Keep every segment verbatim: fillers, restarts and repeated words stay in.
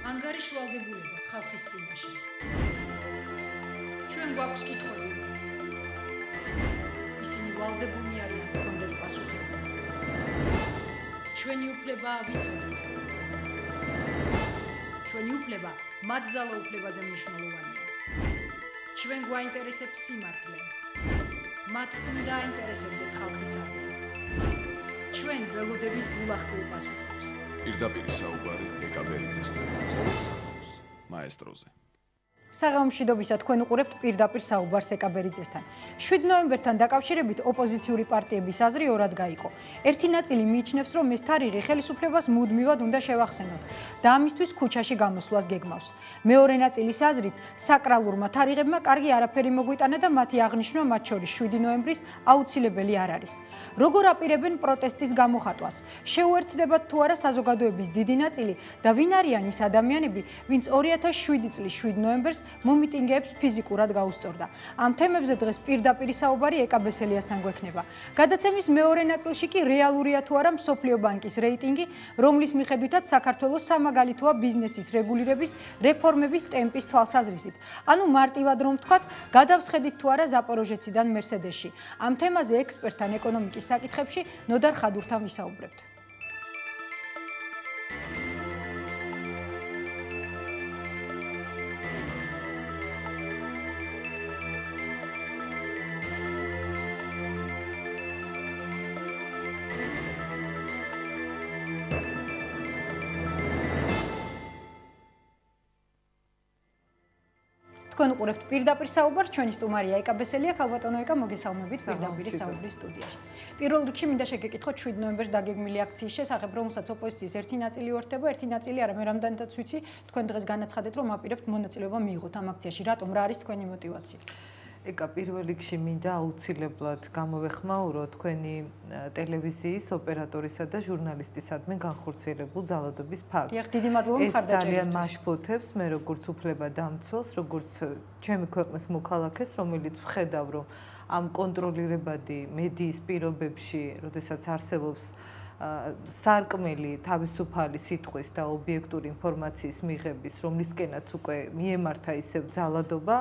ანგარიში ვალდებულება ხალხის წინაშე. ჩვენ გვაქვს კითხვები. ისინი ვალდებულნი არიან გქონდეთ პასუხები. ჩვენი უფლება ვიცოდეთ. ჩვენი უფლება მათ ძალა უფლებაზე მნიშვნელოვანია. ჩვენ გვაინტერესებს სიმართლე. მათ უნდა აინტერესებდეთ ხალხის აზრი. ჩვენ ველოდებით გულახდილ პასუხებს. პირდაპირ საუბარი ეკაბერიძესთან ყოველ საქმეს მაესტროზე. საღამომშვიდობისა თქვენ უყურებთ პირდაპირ საუბარს ეკაბერიძესთან. შვიდ ნოემბერთან დაკავშირებით ოპოზიციური პარტიების აზრი ორად გაიყო. ერთი ნაწილი მიიჩნევს, რომ ეს თარიღი ხელისუფლებას მუდმივად უნდა შევახსენოთ და ამისთვის ქუჩაში გამოსვლას გეგმავს. მეორე ნაწილის აზრით, საკრალურმა თარიღებმა კარგი არაფერი მოგვიტანა და მათი აღნიშვნა მათ შორის შვიდი ნოემბრის აუცილებელი არ არის. როგორ აპირებენ პროტესტის გამოხატვას? შეუერთდებათ თუ არა საზოგადოების დიდი ნაწილი და ვინ არიან ის ადამიანები, ვინც ორი ათას შვიდი წლის შვიდ ნოემბერს მომიტინგეებს ფიზიკურად გაუსწორდა. ამ თემებზე დღეს პირდაპირ საუბარი ეკაბესელიასთან გვექნება. გადაცემის მეორე ნაწილში კი რეალურია თუ არა მსოფლიო ბანკის რეიტინგი, რომლის მიხედვითაც საქართველოს სამაგალითოა ბიზნესის რეგულირების რეფორმების ტემპის თვალსაზრისით. ანუ მარტივად რომ ვთქვათ, გადავსხედით თუ არა ზაპოროჟეციდან მერსედესში. ამ თემაზე ექსპერტთან ეკონომიკის საკითხებში ნოდარ ხადურთან ვისაუბრებთ. თქვენ უყურებთ პირდაპირ საუბარს, ჩვენი სტუმარია ეკაბესელია, ქალბატონო ეკა, მოგესალმებით პირდაპირ საუბრის სტუდიაში. პირველ რიგში მინდა შეგეკითხოთ შვიდ ნოემბერს დაგეგმილი აქციის შესახებ, რომელსაც ოპოზიციის ერთი ნაწილი უერთდება, ერთი ნაწილი არა, მე რამდენადაც ვიცი, თქვენ დღეს განაცხადეთ, რომ აპირებთ მონაწილეობა მიიღოთ ამ აქციაში. რატომ, რა არის თქვენი мотиваცია? ეკა პირველ რიგში მინდა აუცილებლად გამოვეხმაურო თქვენი ტელევიზიის ოპერატორისა და ჟურნალისტისადმი განხორციელებულ ძალადობის ფაქტს. დიახ, დიდი მადლობა მხარდაჭერისთვის. ეს ძალიან მაშფოთებს მე როგორც უფლება დამცველს, როგორც ჩემი ქვეყნის მოქალაქეს, რომელიც ვხედავ, რომ ამ კონტროლირებადი მედიის პირობებში, როდესაც არსებობს სარკმელი თავისუფალი სიტყვის და ობიექტური ინფორმაციის მიღების, რომლისკენაც უკვე მიემართა ისევ ძალადობა,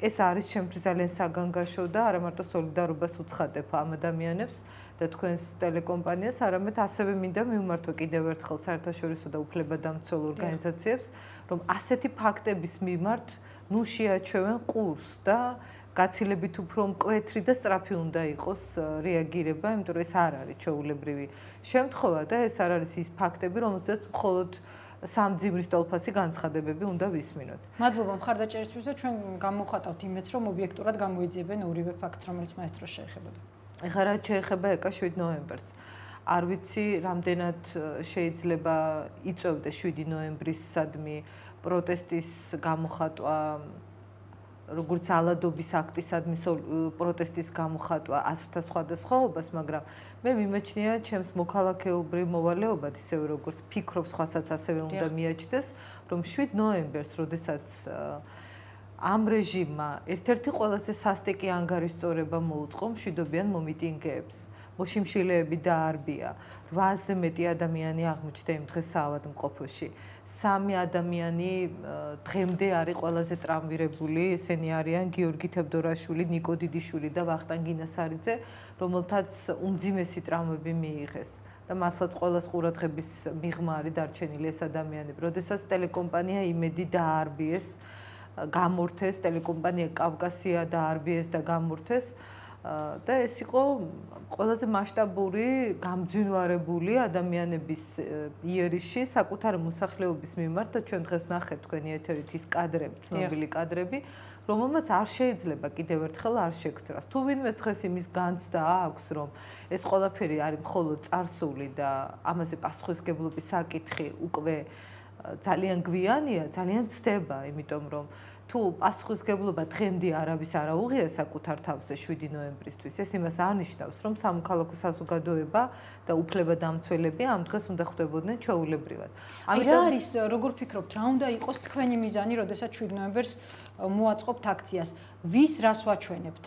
ეს არის ჩემთვის ძალიან საგანგაშო და არა მარტო სოლიდარობას უცხადებ ამ ადამიანებს და თქვენს ტელეკომპანიას, არამედ ასევე მინდა მივმართო კიდევ ერთხელ საერთაშორისო და უფლებადამცველ ორგანიზაციებს, რომ ასეთი ფაქტების მიმართ ნუ შეაჩევენ ყურს და გაცილებით უფრო მკვეთრი და სწრაფი უნდა იყოს რეაგირება, იმიტომ რომ ეს არ არის ჩვეულებრივი შემთხვევა და ეს არ არის ის ფაქტები, რომელზეც მხოლოდ სამძიმრის ტოლფასი განცხადებები უნდა ვისმინოთ. მადლობა მხარდაჭერისთვის და ჩვენ გამოვხატავთ იმედს, რომ ობიექტურად გამოიძიებენ ორივე ფაქტს, რომელიც მაესტროს შეეხებოდა. ეხლა რაც შეეხება ეკა შვიდ ნოემბერს. არ ვიცი, რამდენად შეიძლება იწევდეს შვიდი ნოემბრისადმი პროტესტის გამოხატვა, როგორც ძალადობის აქტისადმი პროტესტის გამოხატვა აზრთა სხვადასხვაობას, მაგრამ მე მიმაჩნია ჩემს მოქალაქეობრივ მოვალეობად, ისევე როგორც ფიქრობ სხვასაც ასევე უნდა მიაჩნდეს, რომ შვიდ ნოემბერს, როდესაც ამ რეჟიმმა ერთ-ერთი ყველაზე სასტიკი ანგარიშწორება მოუწყო მშვიდობიან მომიტინგეებს. მოშიმშილეები დაარბია, რვაზე მეტი ადამიანი აღმოჩნდა იმ დღეს საავადმყოფოში. სამი ადამიანი დღემდე არის ყველაზე ტრავმირებული, ესენი არიან გიორგი თევდორაშვილი, ნიკო დიდიშვილი და ვახტანგ ინასარიძე, რომელთაც უმძიმესი ტრავმები მიიღეს. და მართლაც ყველას ყურადღების მიღმა არის დარჩენილი ეს ადამიანები. როდესაც ტელეკომპანია იმედი დაარბიეს, გამორთეს, ტელეკომპანია კავკასია დაარბიეს და გამორთეს. და ეს იყო ყველაზე მასშტაბური გამძვინვარებული ადამიანების იერიში საკუთარი მოსახლეობის მიმართ და ჩვენ დღეს ვნახეთ თქვენი ეთერით ის კადრები, ცნობილი კადრები, რომელმაც არ შეიძლება კიდევ ერთხელ არ შეგძრას. თუ ვინმეს დღეს იმის განცდა აქვს, რომ ეს ყველაფერი არის მხოლოდ წარსული და ამაზე პასუხისგებლობის საკითხი უკვე ძალიან გვიანია, ძალიან ცდება, იმიტომ რომ თუ პასუხისგებლობა დღემდე არავის არ აუღია საკუთარ თავზე შვიდი ნოემბრისთვის, ეს იმას არნიშნავს, რომ სამოქალაქო საზოგადოება და უფლებადამცველები ამ დღეს უნდა ხვდებოდნენ ჩვეულებრივად. ამიტომ რა არის, როგორ ფიქრობთ, რა უნდა იყოს თქვენი მიზანი, როდესაც შვიდ ნოემბერს მოაწყობთ აქციას? ვის რას ვაჩვენებთ?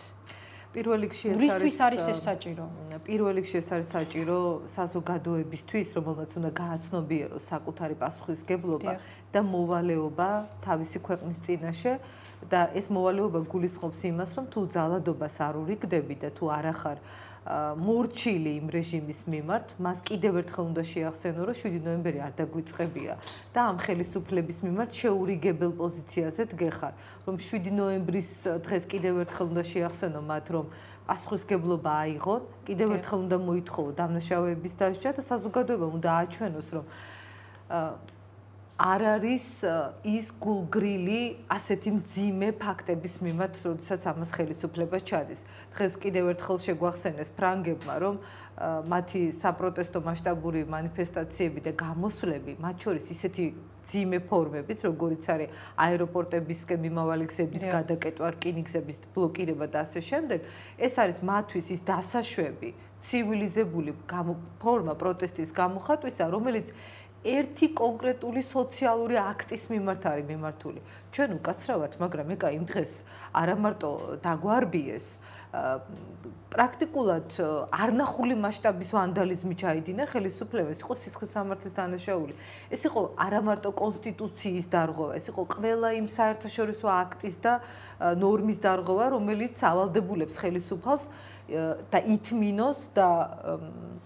პირველ რიგში ეს რისთვის არის ეს საჭირო? პირველ რიგში ეს არის საჭირო საზოგადოებისთვის, რომელმაც უნდა გააცნობიეროს საკუთარი პასუხისგებლობა და მოვალეობა თავისი ქვეყნის წინაშე და ეს მოვალეობა გულისხმობს იმას, რომ თუ ძალადობას არ ურიგდები და თუ არ ახარ მორჩილი იმ რეჟიმის მიმართ, მას კიდევ ერთხელ უნდა შეახსენო, რომ შვიდი ნოემბერი არ დაგვიწყებია და ამ ხელისუფლების მიმართ შეურიგებელ პოზიციაზე დგეხარ, რომ შვიდი ნოემბრის დღეს კიდევ ერთხელ უნდა შეახსენო მათ, რომ პასუხისგებლობა აიღონ, კიდევ ერთხელ უნდა მოითხოვო დამნაშავეების დასჯა და საზოგადოებამ უნდა აჩვენოს, რომ არ არის ის გულგრილი ასეთი მძიმე ფაქტების მიმართ, როდესაც ამას ხელისუფლება ჩადის. დღეს კიდევ ერთხელ შეგვახსენეს ფრანგებმა, რომ მათი საპროტესტო მასშტაბური მანიფესტაციები და გამოსვლები, მათ შორის ისეთი მძიმე ფორმებით, როგორიც არის აეროპორტებისკენ მიმავალი გზების გადაკეტვა, რკინიგზების ბლოკირება და ასე შემდეგ, ეს არის მათთვის ის დასაშვები, ცივილიზებული ფორმა პროტესტის გამოხატვისა, რომელიც ერთი კონკრეტული სოციალური აქტის მიმართ არის მიმართული. ჩვენ უკაცრავად, მაგრამ ეკა იმ დღეს არა მარტო დაგვარბიეს, პრაქტიკულად არნახული მასშტაბის ვანდალიზმი ჩაიდინა ხელისუფლებას, ეს იყო სისხლის სამართლის დანაშაული. ეს იყო არა მარტო კონსტიტუციის დარღვევა, ეს იყო ყველა იმ საერთაშორისო აქტის და ნორმის დარღვევა, რომელიც ავალდებულებს ხელისუფალს და ითმინოს და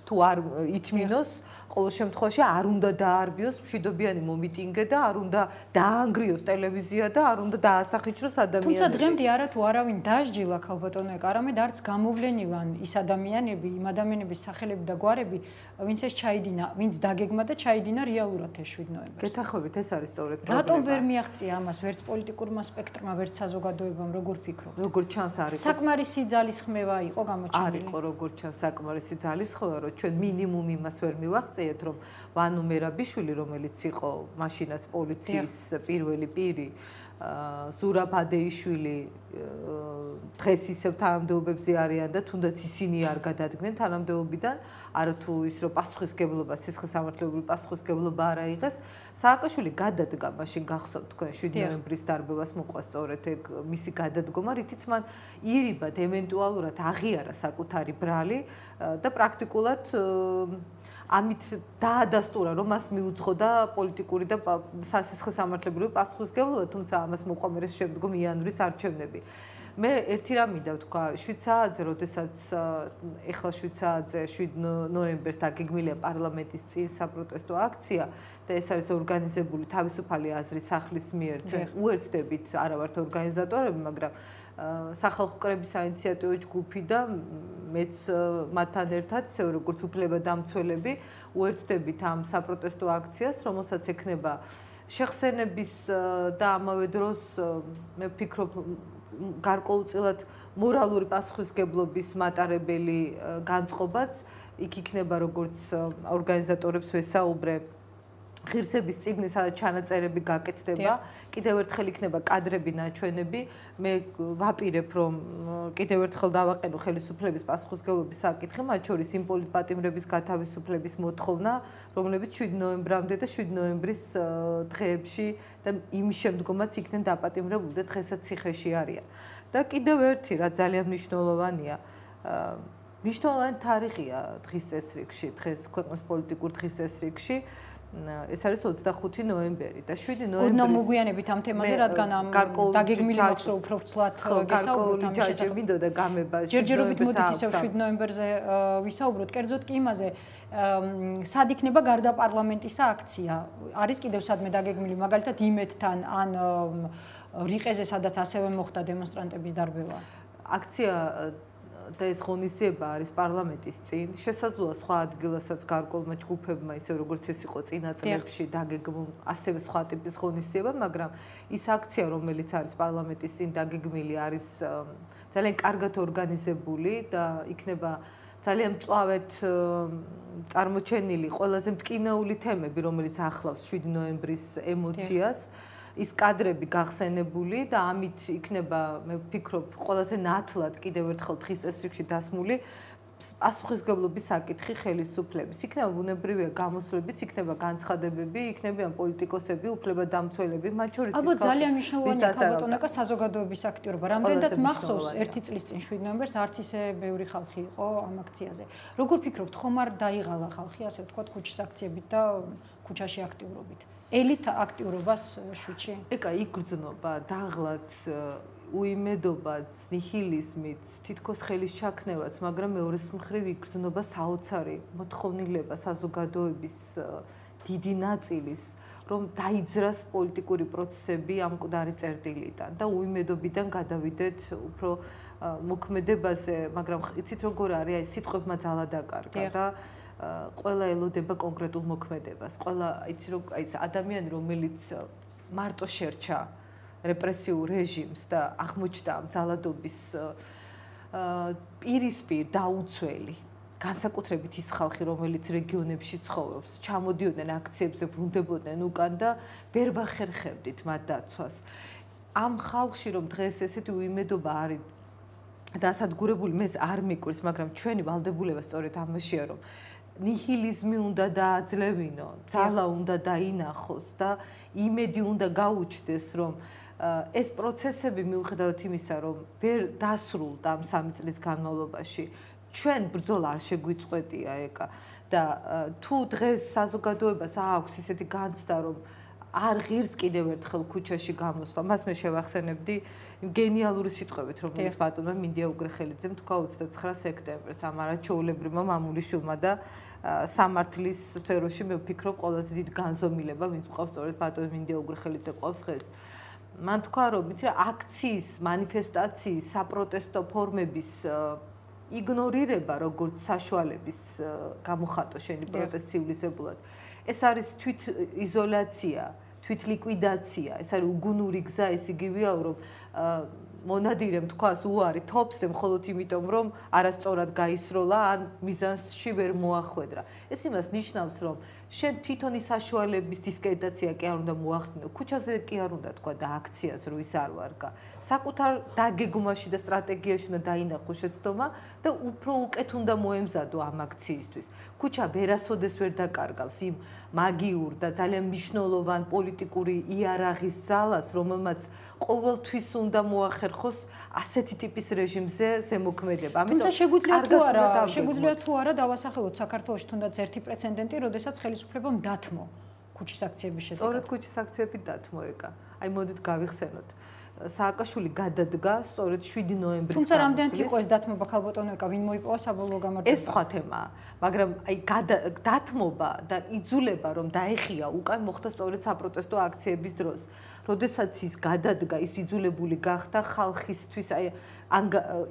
თუ არ ითმინოს ყოველ შემთხვევაში არ უნდა დაარბიოს მშვიდობიანი მომიტინგე და არ უნდა დაანგრიოს ტელევიზია და არ უნდა დაასახიჩროს ადამიანები. თუმცა დღემდე არა თუ არავინ დასჯილა ქალბატონო ეკა, არამედ არც გამოვლენივან ის ადამიანები, იმ ადამიანების სახელები და გვარები, ვინც ეს ჩაიდინა, ვინც დაგეგმა და ჩაიდინა რეალურად ეს შვიდი ნოემბერს. გეთახმებით, ეს არის სწორედ პრობლემა. რატომ ვერ მიაღწია ამას ვერც პოლიტიკურმა სპექტრმა, ვერც საზოგადოებამ, როგორ ფიქრობთ? როგორ ჩანს არის საკმარისი ძალისხმევა იყო გამოჩენილი. არ იყო როგორ ჩანს საკმარისი ძალისხმევა, რომ ჩვენ მინიმუმ იმას ვერ მივაღწიეთ, რომ ვანო მერაბიშვილი, რომელიც იყო მაშინაც პოლიციის პირველი პირი, ზურაბ ადეიშვილი დღეს ისევ თანამდებობებზე არიან და თუნდაც ისინი არ გადადგნენ თანამდებობიდან, არათუ ის რომ პასუხისგებლობა, სისხლის სამართლებრივი პასუხისგებლობა არ აიღეს, სააკაშვილი გადადგა მაშინ გახსოვთ თქვენ შვიდი ნოემბრის დარბევას მოყვა სწორედ ეგ მისი გადადგომა, რითიც მან ირიბად ევენტუალურად აღიარა საკუთარი ბრალი და პრაქტიკულად ამით დაადასტურა, რომ მას მიუძღოდა პოლიტიკური და სასისხლის სამართლებრივი პასუხისგებლობა, თუმცა ამას მოყვა მე შემდგომ იანვრის არჩევნები. მე ერთი რამ მინდა ვთქვა, შვიდ საათზე, როდესაც ეხლა შვიდ საათზე შვიდი ნოემბერს დაგეგმილია პარლამენტის წინ საპროტესტო აქცია და ეს არის ორგანიზებული თავისუფალი აზრის სახლის მიერ, ჩვენ უერთდებით არა ვართ ორგანიზატორები, მაგრამ სახალხო კრების საინიციატივო ჯგუფი და მეც მათთან ერთად, ისე როგორც უფლებადამცველები, უერთდებით ამ საპროტესტო აქციას, რომელსაც ექნება შეხსენების და ამავე დროს მე ვფიქრობ გარკვეულწილად მორალური პასუხისგებლობის მატარებელი განწყობაც იქ იქნება, როგორც ორგანიზატორებს ვესაუბრე, ღირსების წიგნი, სადაც ჩანაწერები გაკეთდება, კიდევ ერთხელ იქნება კადრები, ნაჩვენები. მე ვაპირებ, რომ კიდევ ერთხელ დავაყენო ხელისუფლების პასუხისგებლობის საკითხი, მათ შორის იმ პოლიტპატიმრების გათავისუფლების მოთხოვნა, რომლებიც შვიდი ნოემბრამდე და შვიდი ნოემბრის დღეებში და იმის შემდგომაც იქნენ დაპატიმრებული და დღესაც ციხეში არიან. და კიდევ ერთი, რაც ძალიან მნიშვნელოვანია, მნიშვნელოვანი თარიღია დღის წესრიგში, დღეს ქვეყნის პოლიტიკურ დღის წესრიგში. ეს არის ოცდახუთი ნოემბერი და შვიდი ნოემბრის ოდნავ მოგვიანებით ამ თემაზე, რადგან ამ დაგეგმილი მაქვს უფრო ვრცლად გესაუბროთ ამ შესახებ. მინდოდა გამება ჯერჯერობით მოდით ისევ შვიდი ნოემბერზე ვისაუბროთ, კერძოდ კი იმაზე, სად იქნება გარდა პარლამენტისა აქცია? არის კიდევ სადმე დაგეგმილი, მაგალითად იმედთან ან რიყეზე, სადაც ასევე მოხდა დემონსტრანტების დარბევა? აქცია და ეს ღონისძიება არის პარლამენტის წინ. შესაძლოა სხვა ადგილასაც გარკვეულმა ჯგუფებმა, ისე როგორც ეს იყო წინა წლებში დაგეგმულ ასევე სხვა ტიპის ღონისძიება, მაგრამ ის აქცია, რომელიც არის პარლამენტის წინ დაგეგმილი, არის ძალიან კარგად ორგანიზებული და იქნება ძალიან მწვავედ წარმოჩენილი ყველაზე მტკივნეული თემები, რომელიც ახლავს შვიდი ნოემბრის ემოციას. ის კადრები გახსენებული და ამით იქნება, მე ვფიქრობ, ყველაზე ნათლად კიდევ ერთხელ დღის წესრიგში დასმული პასუხისმგებლობის საკითხი ხელისუფლების. იქნება ბუნებრივია გამოსვლებიც, იქნება განცხადებები, იქნებიან პოლიტიკოსები, უფლებადამცველები, მათ შორის ის ალბათ ძალიან მნიშვნელოვანია ქალბატონაკა საზოგადოების აქტიურობა. რამდენადაც მახსოვს ერთი წლის წინ შვიდ ნოემბერს არც ისე ბევრი ხალხი იყო ამ აქციაზე. როგორ ფიქრობთ, ხომ არ დაიღალა ხალხი ასე ვთქვათ ქუჩის აქციებით და ქუჩაში აქტიურობით? ელით აქტიურობას შვიდში? ეკა იქ გრძნობა, დაღლაც უიმედობაც, ნიჰილიზმიც, თითქოს ხელის ჩაქნევაც, მაგრამ მეორეს მხრივ იგრძნობა საოცარი მოთხოვნილება საზოგადოების დიდი ნაწილის, რომ დაიძრას პოლიტიკური პროცესები ამ მკვდარი წერტილიდან და უიმედობიდან გადავიდეთ უფრო მოქმედებაზე, მაგრამ იცით როგორ არის, აი სიტყვებმა ძალა დაკარგა და ყველა ელოდება კონკრეტულ მოქმედებას. ყველა იცი რომ აი ეს ადამიანი, რომელიც მარტო შერჩა რეპრესიულ რეჟიმს და აღმოჩნდა ამ ძალადობის პირისპირ დაუცველი განსაკუთრებით ის ხალხი რომელიც რეგიონებში ცხოვრობს ჩამოდიოდნენ აქციებზე ბრუნდებოდნენ უკან და ვერ ვახერხებდით მათ დაცვას ამ ხალხში რომ დღეს ესეთი უიმედობა არის დასადგურებული მე არ მიკვირს მაგრამ ჩვენი ვალდებულება სწორედ ამაშია რომ ნიჰილიზმი უნდა დააძლევინო ძალა უნდა დაინახოს და იმედი უნდა გაუჩნდეს რომ ეს პროცესები მიუხედავად იმისა, რომ ვერ დასრულდა ამ სამი წლის განმავლობაში, ჩვენ ბრძოლა არ შეგვიწყვეტია ეკა და თუ დღეს საზოგადოებას აქვს ისეთი განცდა, რომ არ ღირს კიდევ ერთხელ ქუჩაში გამოსვლა, მას მე შევახსენებდი გენიალური სიტყვებით, რომელიც ბატონმა მინდია უგრეხელიძემ თქვა ოცდაცხრა სექტემბერს ამ არაჩვეულებრივმა მამულიშვილმა და სამართლის სფეროში მე ვფიქრობ ყველაზე დიდ განზომილება, ვინც ყავს სწორედ ბატონ მინდია უგრეხელიძე ყავს დღეს. მან თქვა რომ იცი აქციის, მანიფესტაციის, საპროტესტო ფორმების იგნორირება როგორც საშუალების გამოხატო შენი პროტესტ ცივილიზებულად. ეს არის თვით იზოლაცია, თვით ლიკვიდაცია, ეს არის უგუნური გზა, ეს იგივეა რომ მონადირემ თქვას უარი თოფსე მხოლოდ იმიტომ რომ არასწორად გაისროლა ან მიზანში ვერ მოახვედრა. ეს იმას ნიშნავს რომ შენ თვითონი საშუალების დისკრედიტაცია კი არ უნდა მოახდინო. ქუჩაზე კი არ უნდა თქვა და აქციას რო ის არ ვარგა. საკუთარ დაგეგმვაში და სტრატეგიაში უნდა დაინახო შეცდომა და უფრო უკეთ უნდა მოემზადო ამ აქციისთვის. ქუჩა ვერასოდეს ვერ დაკარგავს იმ მაგიურ და ძალიან მნიშვნელოვან პოლიტიკური იარაღის ძალას, რომელმაც ყოველთვის უნდა მოახერხოს ასეთი ტიპის რეჟიმზე ზემოქმედება. ამიტომ შეგვიძლია თუ არა, შეგვიძლია თუ არა დავასახელოთ საქართველოში თუნდაც ერთი პრეცედენტი, როდესაც ხელისუფლებამ დათმო ქუჩის აქციების შედეგად. სწორედ ქუჩის აქციები დათმო ეკა. აი მოდით გავიხსენოთ. სააკაშვილი გადადგა სწორედ შვიდი ნოემბრის თუმცა რამდენად იყო ეს დათმობა ქალბატონო ეკა, ვინ მოიპოვა საბოლოო გამარჯვება? ეს სხვა თემაა, მაგრამ აი დათმობა და იძულება რომ დაეხია უკან მოხდა სწორედ საპროტესტო აქციების დროს. როდესაც ის გადადგა, ის იძულებული გახდა ხალხისთვის აი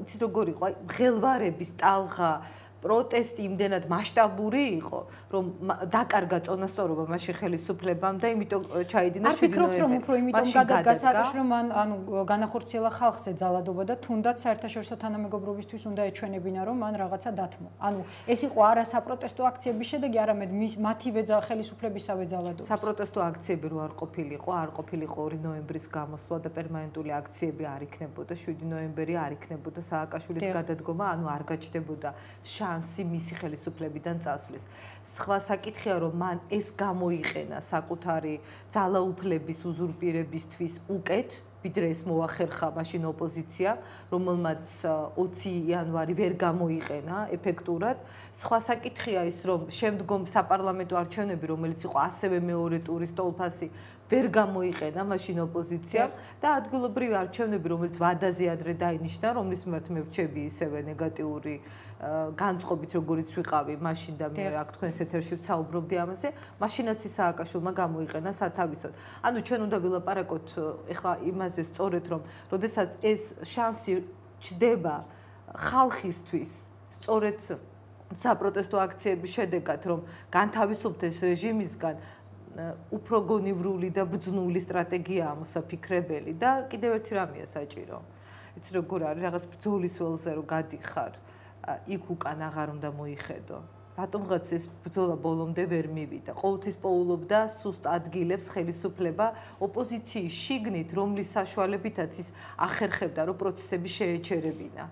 იცი როგორ იყო, აი მღელვარების ტალღა პროტესტი იმდენად მასშტაბური იყო, რომ დაკარგა წონასწორობა მაშინ ხელისუფლებამ და იმიტომ ჩაიდინა შვიდი ნოემბერი. არ ფიქრობთ, რომ უფრო იმიტომ გადადგა სააკაშვილი, რომ ანუ განახორციელა ხალხზე ძალადობა და თუნდაც საერთაშორისო თანამეგობრობისთვის უნდა ეჩვენებინა, რომ მან რაღაცა დათმო. ანუ ეს იყო არა საპროტესტო აქციების შედეგი, არამედ მათივე ხელისუფლებისავე ძალადობის. საპროტესტო აქციები რო არ ყოფილიყო, არ ყოფილიყო ორი ნოემბრის გამოსვლა და პერმანენტული აქციები არ იქნებოდა, შვიდი ნოემბერი არ იქნებოდა სააკაშვილის გადადგომა, ანუ არ გაჩნდებოდა შანსი მისი ხელისუფლებიდან წასვლის. სხვა საკითხია რომ მან ეს გამოიყენა საკუთარი ძალაუფლების უზურპირებისთვის უკეთ, ვიდრე ეს მოახერხა მაშინ ოპოზიცია, რომელმაც ოცი იანვარი ვერ გამოიყენა ეფექტურად. სხვა საკითხია ის რომ შემდგომ საპარლამენტო არჩევნები, რომელიც იყო ასევე მეორე ტურის ტოლფასი, ვერ გამოიყენა მაშინ ოპოზიციამ და ადგილობრივი არჩევნები, რომელიც ვადაზე ადრე დაინიშნა, რომლის მიმართ მე ვრჩები ისევე ნეგატიური განწყობით როგორიც ვიყავი მაშინ და მე აქ თქვენს ეთერში ვსაუბრობდი ამაზე, მაშინაც ის სააკაშვილმა გამოიყენა სათავისოდ. ანუ ჩვენ უნდა ვილაპარაკოთ ეხლა იმაზე სწორედ რომ როდესაც ეს შანსი ჩდება ხალხისთვის სწორედ საპროტესტო აქციების შედეგად რომ განთავისუფლდეს რეჟიმისგან უფრო გონივრული და ბრძნული სტრატეგია მოსაფიქრებელი და კიდევ ერთი რამეა საჭირო. იცი როგორ არის რაღაც ბრძოლის ველზე რომ გადიხარ იქ უკან აღარ უნდა მოიხედო. რატომღაც ეს ბრძოლა ბოლომდე ვერ მივიდა. ყოველთვის პოულობდა სუსტ ადგილებს ხელისუფლება ოპოზიციის შიგნით, რომლის საშუალებითაც ის ახერხებდა, რომ პროცესები შეეჩერებინა.